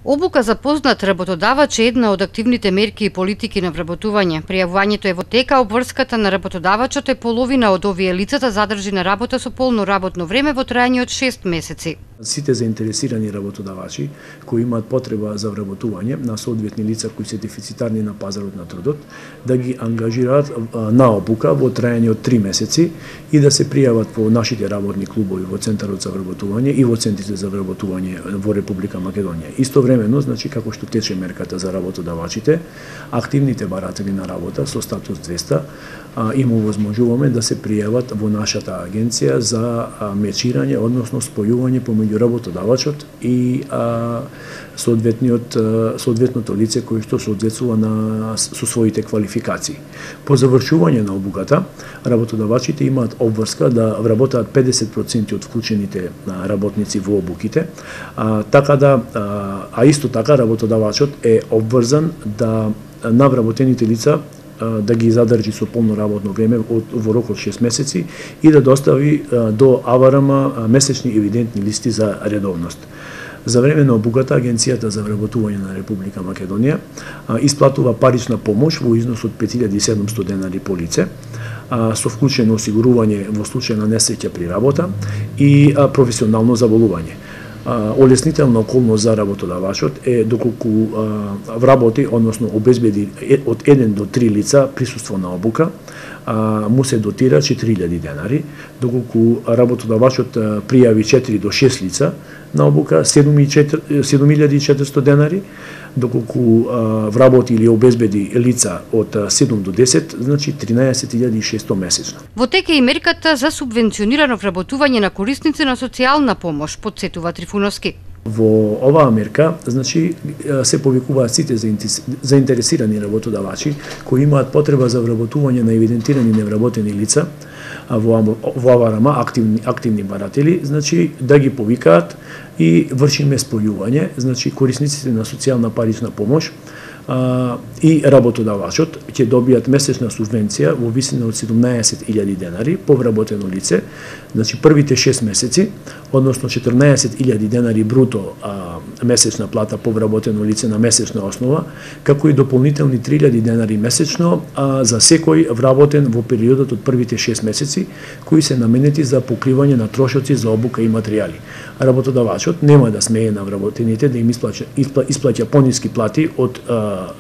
Обука за познат работодавач е една од активните мерки и политики на вработување. Пријавувањето е во тека, обврската на работодавачот е половина од овие лицата задржи на работа со полно работно време во трајање од 6 месеци. Сите заинтересирани работодавачи кои имаат потреба за вработување на соодветни лица кои се дефицитарни на пазарот на трудот, да ги ангажираат на обука во трајање од 3 месеци и да се пријават по нашите работни клубови во Центарот за вработување и во центрите за вработување во Република Македонија. Истовремено, значи како што тече мерката за работодавачите, активните баратели на работа со статус 200 им овозможуваме да се пријават во нашата агенција за мечирање, односно спојување помеѓу работодавачот и соодветното лице кое што соодветствува со своите квалификации. По завршување на обуката, работодавачите имаат обврска да вработаат 50% од вклучените работници во обуките, исто така работодавачот е обврзан да на вработените лица да ги задржи со полно работно време во рок од 6 месеци и да достави до АВРМ месечни евидентни листи за редовност. За време на обуката, Агенцијата за вработување на Република Македонија исплатува парична помош во износ од 5700 денари по лице, со вклучено осигурување во случај на несреќа при работа и професионално заболување. Олеснителна околност за работодавачот е доколку вработи, односно обезбеди од 1 до 3 лица присуство на обука, му се дотира 4000 денари, доколку работодавачот пријави 4 до 6 лица на обука 7400 денари, доколку вработи или обезбеди лица од 7 до 10, значи 13600 месечно. Во тека и мерката за субвенционирано вработување на корисници на социјална помош, потсетува Трифуновски. Во оваа мерка, значи, се повикуваат сите заинтересирани работодавачи кои имаат потреба за вработување на евидентирани невработени лица во АВРМ, активни баратели, значи да ги повикаат и вршиме спојување, значи корисниците на социјална парична помош и работодавачот ќе добијат месечна субвенција во висина од 17000 денари по вработено лице, значи првите 6 месеци, односно 14000 денари бруто месечна плата по вработено лице на месечна основа, како и дополнителни 3000 денари месечно за секој вработен во периодот од првите 6 месеци, кои се наменети за покривање на трошоци за обука и материјали. Работодавачот нема да смее на вработените да им исплаќа пониски плати од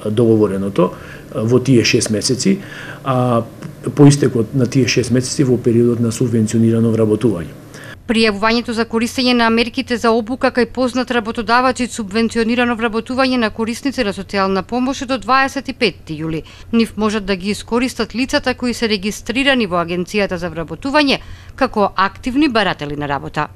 договореното во тие 6 месеци, по истекот на тие 6 месеци во периодот на субвенционирано вработување. Пријавувањето за користење на мерките за обука кај познат работодавач и субвенционирано вработување на корисници на социјална помош е до 25 јули. Нив можат да ги искористат лицата кои се регистрирани во Агенцијата за вработување како активни баратели на работа.